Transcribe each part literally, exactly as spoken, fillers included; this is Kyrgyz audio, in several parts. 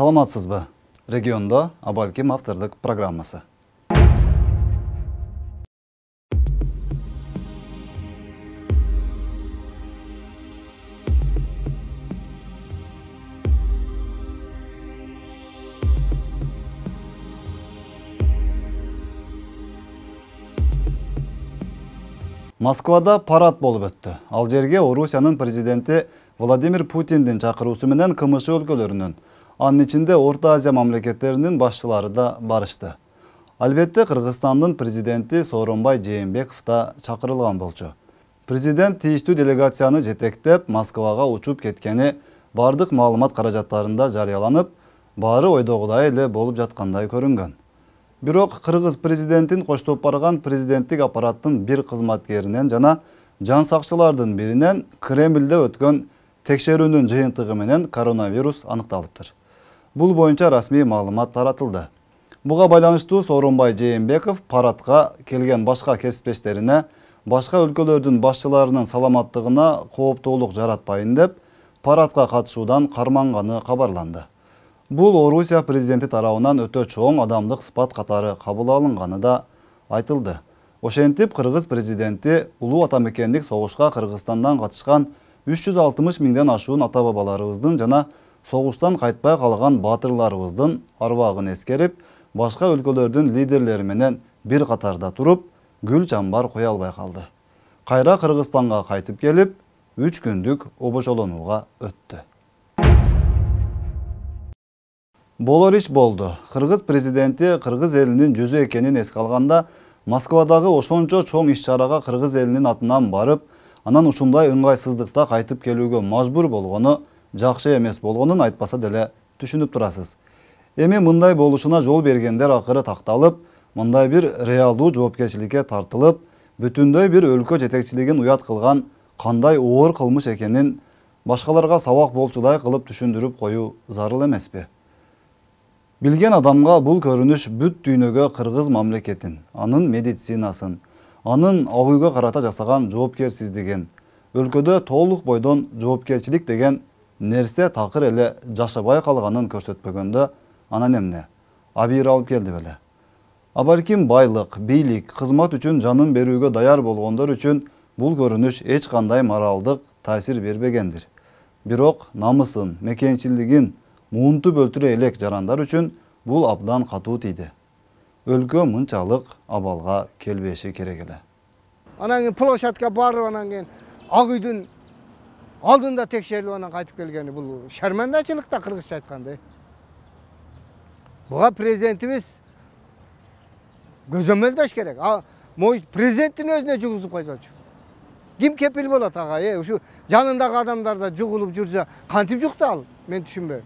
Саламатсызбы? Региондо Абалким автордук программасы. Москвада парад болуп өттү. Ал жерге Орусиянын президенти Владимир Путиндин чакыруусу менен КМШ өлкөлөрүнүн, анын ичинде Орто Азия мамлекеттеринин башчылары да барышты. Албетте, Кыргызстандын президенти Сооронбай Жээнбеков да чакырылган болчу. Президент тийиштүү делегацияны жетектеп Москвага учуп кеткени бардык маалымат каражаттарында жарыяланып, баары ойдогудай эле болуп жаткандай көрүнгөн. Бирок кыргыз президентин коштоп барган президенттик аппараттын бир кызматкеринен жана жан сакчылардын биринен Кремлде өткөн текшерүүнүн жыйынтыгы менен коронавирус аныкталыптыр. Бул боюнча расмий маалымат таратылды. Буга байланыштуу Сооронбай Жээнбеков парадка келген башка кесиптештерине башка өлкөлөрдүн башчыларынын саламаттыгына кооптуулук жаратпайын деп парадка катышуудан карманганы кабарланды. Бул Орусия президенти тарабынан өтө чоң адамдык сыпат катары кабыл алынганы да айтылды. Ошентип, кыргыз президенти улуу атамекендик согушка Кыргызстандан катышкан үч жүз алтымыш миңден ашуун ата-бабаларыбыздын жана согуштан кайтпай калган баатырларыбыздын арбагын эскерип, башка өлкөлөрдүн лидерлери менен бир катарда туруп, гүл чамбар кое албай калды. Кайра Кыргызстанга кайтып келип, үч күндүк обошолонууга өттү. Болор иш болду. Кыргыз президенти кыргыз элинин жүзү экенин эске алганда, Москвадагы ошончо чоң иш-чарага кыргыз элинин атынан барып, анан ушундай ыңгайсыздыкта кайтып келүүгө мажбур болгону жакшы эмес болгонун айтпаса деле түшүнүп турасыз. Эми мындай болушуна жол бергендер акыры такталып, мындай бир реалдуу жоопкерчиликке тартылып, бүтүндөй бир өлкө жетекчилигин уят кылган кандай оор кылмыш экенин башкаларга сабак болчудай кылып түшүндүрүп коюу зарыл эмеспи? Билген адамга бул көрүнүш бүт дүйнөгө кыргыз мамлекетин, анын медицинасын, анын АУйга карата жасаган жоопкерсиздигин, өлкөдө толук бойдон жоопкерчилик деген нерсе такыр эле жашабай калганын көрсөтпөгөндө анан эмне? Абийир алып келди беле. Абалким байлык, бийлик, кызмат үчүн жанын берүүгө даяр болгондор үчүн бул көрүнүш эч кандай моралдык таасир бербегендир. Бирок намысын, мекенчилигин муунтуп өлтүрө элек жарандар үчүн бул абдан катуу тийди. Өлкө мынчалык абалга келбеши керек эле. Анан кийин площадка барып, анан кийин Ак үйдүн алдында текшерилип анан кайтып келгени бул шармандачылык да, кыргызча айтканда. Буга президентибиз көзөмөлдөш керек. А могу президенттин өзүнө жугузуп койсочу. Ким кепил болот ага? Э, ушу жанындагы адамдар да жугулуп жүрсө, кантип жукты ал? Мен түшүнбөйм.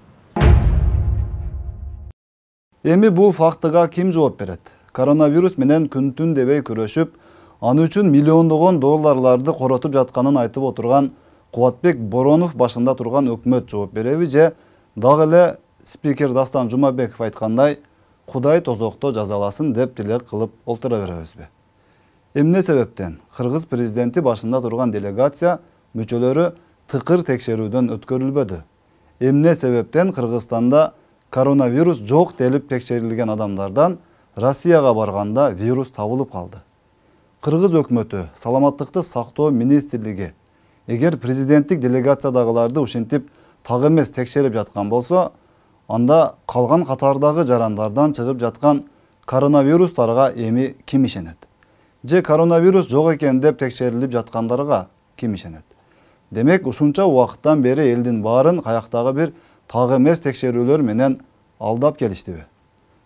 Эми бул фактыга ким жооп берет? Коронавирус менен күн-түн дебей күрөшүп, аны үчүн миллиондогон долларларды коротуп жатканын айтып отурган Кубатбек Боронов башында турган өкмөт жооп береби же дагы эле спикер Дастан Жумабеков айткандай, Кудай тозокто жазаласын деп тилек кылып олтура беребизби? Эмне себептен кыргыз президенти башында турган делегация мүчөлөрү тыкыр текшерүүдөн өткөрүлбөдү? Эмне себептен Кыргызстанда коронавирус жок делип текшерилген адамдардан Россияга барганда вирус табылып калды? Кыргыз өкмөтү, саламаттыкты сактоо министрлиги эгер президенттик делегациядагыларды ушинтип так эмес текшерип жаткан болсо, анда калган катардагы жарандардан чыгып жаткан коронавирустарга эми ким ишенет? Же коронавирус жок экен деп текшерилип жаткандарга ким ишенет? Демек, ушунча убакыттан бери элдин баарын каяктагы бир так эмес текшерүүлөр менен алдап келиштиби?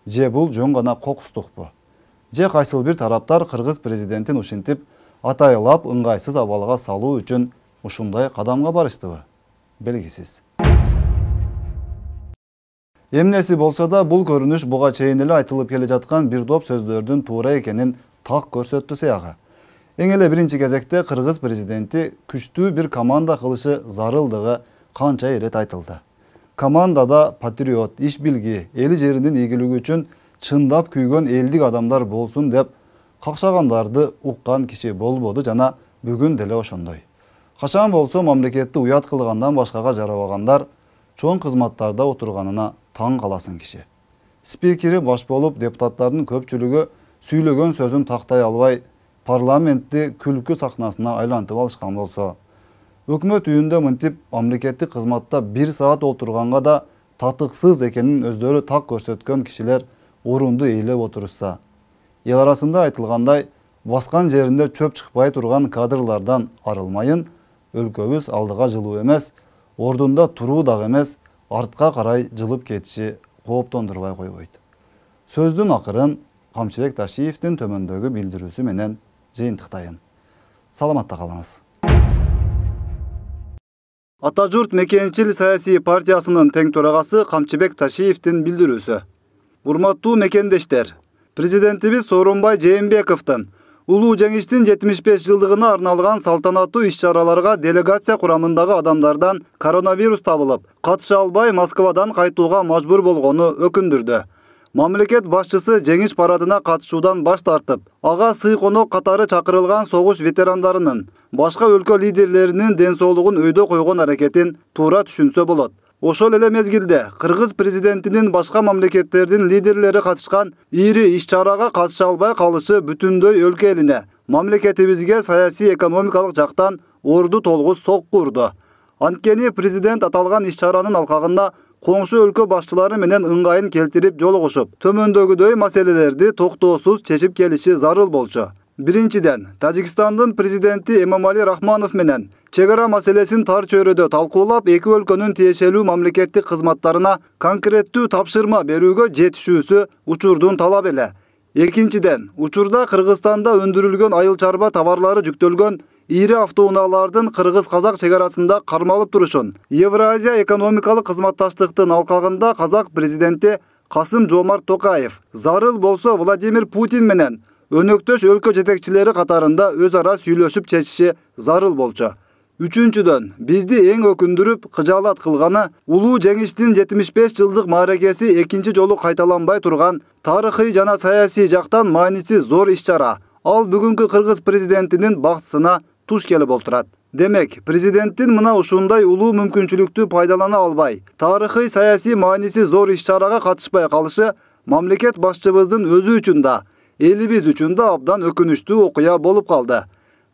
Же бул жөн гана кокустукпу? Же кайсыл бир тараптар кыргыз президентин ушинтип атайлап ыңгайсыз абалга салуу үчүн ушундай кадамга барыштыбы? Белгисиз. Эмнеси болсо да, бул көрүнүш буга чейин эле айтылып келе жаткан бир топ сөздөрдүн туура экенин так көрсөттү сыягы. Эң эле биринчи кезекте кыргыз президенти күчтүү бир команда кылышы зарылдыгы канча ирет айтылды. Командада патриот, иш билги, эли жеринин ийгилиги үчүн чындап күйгөн элдик адамдар болсун деп какшагандарды уккан киши болбоду жана бүгүн деле ошондой. Качан болсо мамлекетти уят кылгандан башкага жарабагандар чоң кызматтарда отурганына таң каласың киши. Спикери баш болуп, депутаттардын көпчүлүгү сүйлөгөн сөзүн тактай албай, парламентти күлкү сахнасына айлантып алышкан болсо, өкмөт үйүндө мынтип мамлекеттик кызматта бир саат отурганга да татыксыз экенин өздөрү так көрсөткөн кишилер орунду ээлеп отурушса, эл арасында айтылгандай, баскан жеринде чөп чыкпай турган кадрлардан арылмайын, өлкөбүз алдыга жылуу эмес, ордунда туруу дагы эмес, артка карай жылып кетиши кооптондурбай койбойт. Сөздүн акырын Камчыбек Ташиевдин төмөндөгү билдирүүсү менен жыйынтыктайын. Саламатта калыңыз. Ата журт мекенчил саясий партиясынын тең төрагасы Камчыбек Ташиевдин билдирүүсү. Урматтуу мекендештер, президентибиз Сооронбай Жээнбековдун улуу жеңиштин жетимиш беш жылдыгына арналган салтанаттуу иш-чараларга делегация курамындагы адамдардан коронавирус табылып, катыша албай Москвадан кайтууга мажбур болгону өкүндүрдү. Мамлекет башчысы жеңиш парадына катышуудан баш тартып, ага сый-конок катары чакырылган согуш ветерандарынын, башка өлкө лидерлеринин ден соолугун өйдө койгон аракетин туура түшүнсө болот. Ошол эле мезгилде Кыргыз президентинин башка мамлекеттердин лидерлери катышкан ири иш-чарага катыша албай калышы бүтүндөй өлкө элине, мамлекетибизге саясий экономикалык жактан орду толгуз сокку урду. Анткени президент аталган иш-чаранын алкагында коңшу өлкө башчылары менен ыңгайын келтирип жолугушуп, төмөндөгүдөй маселелерди токтоосуз чечип келиши зарыл болчу. Биринчиден, Тажикстандын президенти Эмомали Рахмонов менен чек ара маселесин тар чөйрөдө талкуулап, эки өлкөнүн тиешелүү мамлекеттик кызматтарына конкреттүү тапшырма берүүгө жетишүүсү учурдун талап эле. Экинчиден, учурда Кыргызстанда өндүрүлгөн айыл чарба товарлары жүктөлгөн ири автоунаалардын кыргыз-казак чек арасында кармалып турушун, Евразия экономикалык кызматташтыктын алкагында казак президенти Касым-Жомарт Токаев зарыл болсо Владимир Путин менен өнөктөш өлкө жетекчилери катарында өз ара сүйлөшүп чечиши зарыл болчу. Үчүнчүдөн, бизди эң өкүндүрүп, кыжаалат кылганы улуу жеңиштин жетимиш беш жылдык мааракеси экинчи жолу кайталанбай турган тарыхый жана саясий жактан мааниси зор иш-чара. Ал бүгүнкү Кыргыз президентинин бактысына туш келип отурат. Демек, президенттин мына ушундай улуу мүмкүнчүлүктү пайдалана албай, тарыхый саясий мааниси зор иш-чарага катышпай калышы мамлекет башчыбыздын өзү үчүн да, элибиз үчүн да абдан өкүнүчтүү окуя болуп калды.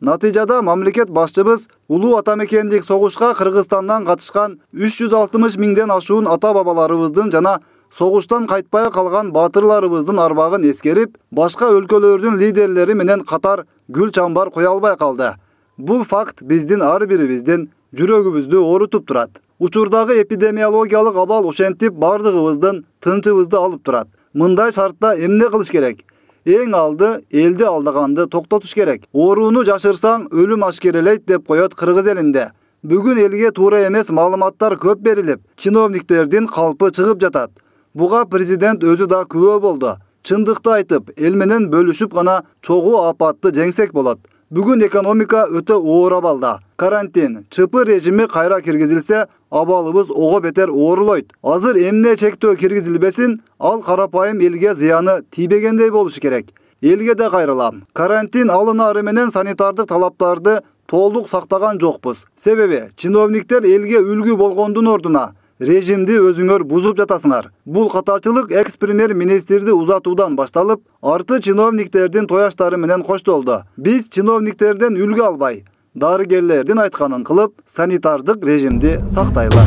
Натыйжада мамлекет башчыбыз улуу атамекендик согушка Кыргызстандан катышкан үч жүз алтымыш миңден ашуун ата-бабаларыбыздын жана согуштан кайтпай калган баатырларыбыздын арбагын эскерип, башка өлкөлөрдүн лидерлери менен катар гүл чамбар кое албай калды. Бул факт биздин ар бирибиздин жүрөгүбүздү оорутуп турат. Учурдагы эпидемиологиялык абал ошентип бардыгыбыздын тынчыбызды алып турат. Мындай шартта эмне кылыш керек? Эң алды элди алдаганды токтотуш керек. Орууну жашырсаң өлүм ашкерелейт деп коет кыргыз элинде. Бүгүн элге туура эмес маалыматтар көп берилип, чиновниктердин калпы чыгып жатат. Буга президент өзү да күбө болду. Чындыкты айтып, эл менен бөлүшүп гана чогуу апатты жеңсек болот. Бүгүн экономика өтө оор абалда. Карантин, чыпы режими кайра киргизилсе, абалыбыз ого бетер оорулойт. Азыр эмне чектөө киргизилбесин, ал карапайым элге зыяны тийбегендей болушу керек. Элге да кайрылам. Карантин алынаары менен санитардык талаптарды толук сактаган жокпуз. Себеби чиновниктер элге үлгү болгондун ордуна режимди өзүңөр бузуп жатасыңар. Бул катачылык экс-премьер-министрди узатуудан башталып, арты чиновниктердин тояштары менен коштолду. Биз чиновниктерден үлгү албай, дарыгерлердин айтканын кылып, санитардык режимди сактайлы.